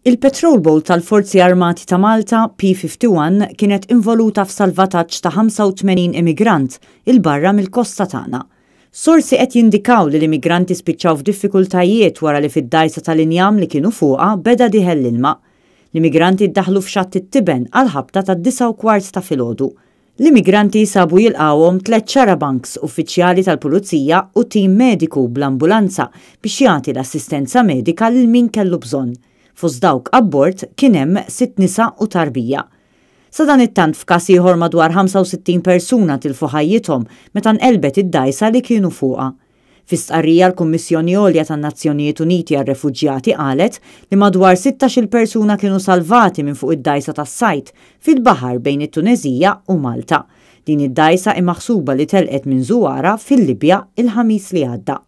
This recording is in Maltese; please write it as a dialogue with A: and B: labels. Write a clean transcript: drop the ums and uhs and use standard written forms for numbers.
A: Il-Patrol Boat tal-Forzi Armati ta' Malta, P-51, kienet involuta f'salvataġġ ta' 85 immigrant 'il barra mill-kosta tagħna. Sorsi qed jindikaw li l-immigranti spiċċaw f'diffikultajiet wara li fid-dgħajsa tal-injam li kienu fuqha beda dieħel l-ilma. L-immigranti ddaħlu f'Xatt it-Tiben għall-ħabta tad-9:15 ta' filgħodu. L-immigranti sabu jilqgħuhom tlett xarabanks, uffiċjali tal-pulizija u tim mediku bl-ambulanza biex jagħti l-assistenza medika lil min kellu bżonn. Fost dawk abbord kien hemm sitt nisa u tarbija. Sadanittant f'każ ieħor madwar 65 persuna tilfu ħajjithom meta nqelbet id-dgħajsa li kienu fuqha. Fi stqarrija l-Kummissjoni Għolja tan-Nazzjonijiet Uniti għar-Refuġjati qalet li madwar 16-il persuna kienu salvati minn fuq id-dgħajsa tas-sajd fil-baħar bejn it-Tuneżija u Malta. Din id-dgħajsa hi maħsuba li telqet minn Zuwara fil-Libja il-Ħamis li għadda.